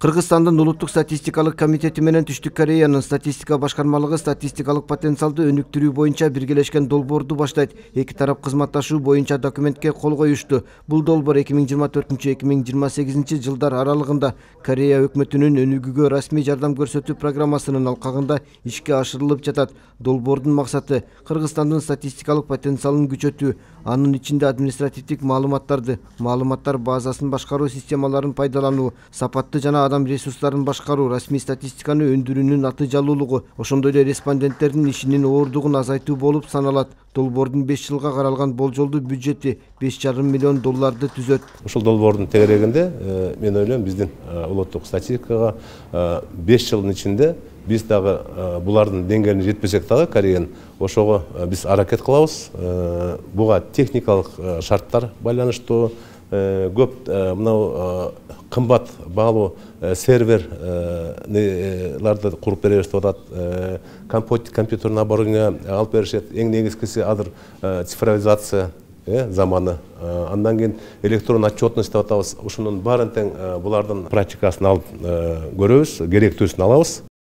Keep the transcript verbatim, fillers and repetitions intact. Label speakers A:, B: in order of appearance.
A: Кыргызстандын улуттук статистикалык комитети менен Түштүк Кореянын статистика башкармалыгы статистикалык потенциалды өнүктүрүү боюнча биргелешкен долбоорду баштайт. Эки тарап кызматташуу боюнча документке кол коюшту. Бул долбоор эки миң жыйырма төртүнчү эки миң жыйырма сегизинчи жылдар аралыгында Корея өкмөтүнүн өнүгүүгө расмий жардам көрсөтүү программасынын алкагында ишке ашырылып жатат. Долбоордун максаты Кыргызстандын статистикалык потенциалын күчөтүү, анын ичинде административдик маалыматтарды, маалыматтар базасын башкаруу системаларын пайдалануу, сапатты жана адам ресурстарын башкаруу, расмий статистиканы өндүрүүнүн натыйжалуулугу, ошондой эле респонденттердин ишинин оордугун азайтуу болуп саналат. Долбоордун беш жылга каралган болжолдуу бюджети беш жарым миллион долларды түзөт.
B: Ушул долбоордун тегерегинде мен ойлойм биздин улуттук статистикага беш жылдын ичинде биз дагы булардын деңгээлине жетпесек дагы Кореянын ошого биз аракет кылабыз. Буга техникалык шарттар байланыштуу, көп мынау кымбат баалуу серверларды куруп беребиз деп атат. Компьютерный оборудование алып беришет. Эң негизгиси азыр цифровизация заманы. Андан кийин электрон отчетность деп атабыз. Ушунун баарын тең булардын практикасын алып көрөбүз, керектүүсүн алабыз.